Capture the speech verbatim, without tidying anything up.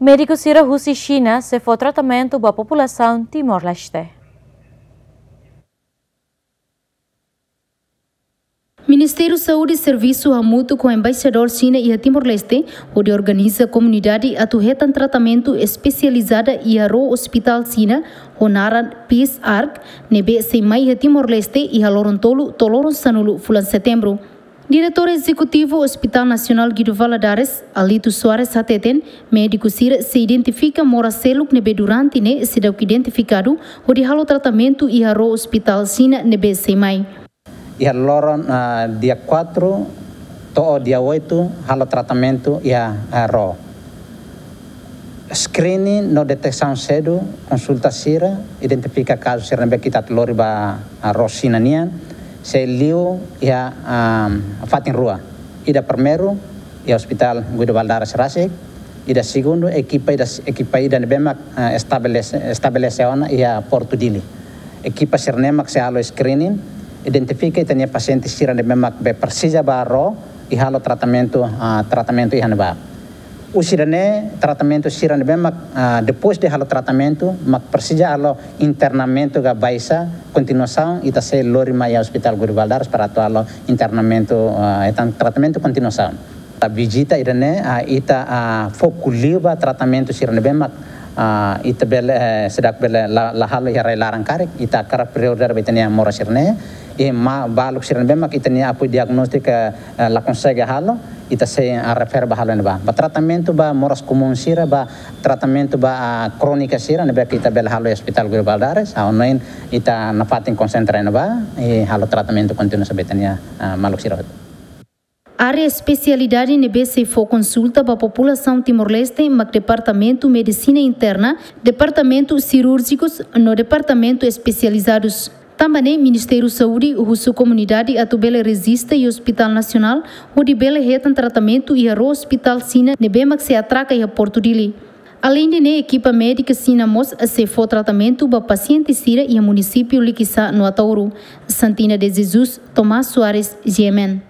Médiku sira husi Xina sei fó tratamentu ba populasaun Timor-Leste. Ministériu Saúde servisu hamutuk ho Embaixadór Xina iha Timor-Leste, hodi organiza komunidade atu hetan tratamentu espesializada iha ró ospitál Xina, ho naran Peace Ark, ne'ebé sei mai iha Timor-Leste iha loron tolu to'o loron sanulu fulan Setembru. Diretór Ezekutivu Hospital Nasionál Guido Valadares, Alito Soares hateten, médiku sira sei identifika moras seluk ne'ebé durante ne'e seidauk identifikadu, hodi halo tratamentu iha ró ospitál Xina ne'ebé sei mai. Iha loron, ah, dia quatro to'o dia oito, halo tratamentu iha, ah, ró. Screening no detesaun sedu, konsulta sira, identifika kazu sira ne'ebé ita atu lori ba, ah, ró Xina nian, sei liu iha, ah, fatin rua. Ida primeiru, iha Hospital Guido Valadares rasik, ida segundu, ekipa ida, ekipa ida ne'ebé mak, ah, estabelese, estabelese ona iha Portu Dili. Ekipa sira-ne'e mak sei halo screening, identifika ita-nia pasiente sira ne'ebé mak be presiza ba ró, i halo tratamentu, ah, tratamentu iha ne'ebá. Husi ida-ne'e tratamentu sira ne'ebé mak, ah, depois de halo tratamentu, mak presiza halo internamentu ka baixa, kontinuasaun, ita sei lori mai iha Hospital Guido Valadares para atu halo internamentu, ah, hetan tratamentu kontinuasaun. Ba vizita ida-ne'e, ah, ita, ah, foku liu ba tratamentu sira ne'ebé mak, ah, ita bele, eh, seidauk bele la, la halo iha rai-laran karik, ita hakarak prioridade ba ita-nia moras sira-ne'e, i ma, baluk sira ne'ebé mak ita-nia apoiu diagnóstiku, eh, la konsege halo, ita sei, ah, refere ba halo iha ne'ebá. Ba tratamentu ba moras komún sira, ba tratamentu ba, ah, krónika sira, ne'ebé ke ita bele halo iha Hospital Guido Valadares, ah, ohin ita nafatin konsentra iha ne'ebá, i halo tratamentu kontinua ba ita-nia, ah, maluk sira hotu. Área espesialidade ne'ebé sei fó konsulta ba populasaun Timor-Leste mak Departamentu Medisina Interna, Departamentu Sirúrjikus no Departamentu Espesializadus. Tanba ne'e Ministériu Saúde husu komunidade atu bele rejista iha Hospital Nasionál, hodi bele hetan tratamentu iha ró ospitál Xina ne'ebé mak sei atraka iha Portu Dili. Aleinde ne'e, ekipa médika Xina mós sei fó tratamentu ba pasiente sira iha munisípiu Likisá no Ataúro. Santina de Jesus, Tomás Soares, G M N.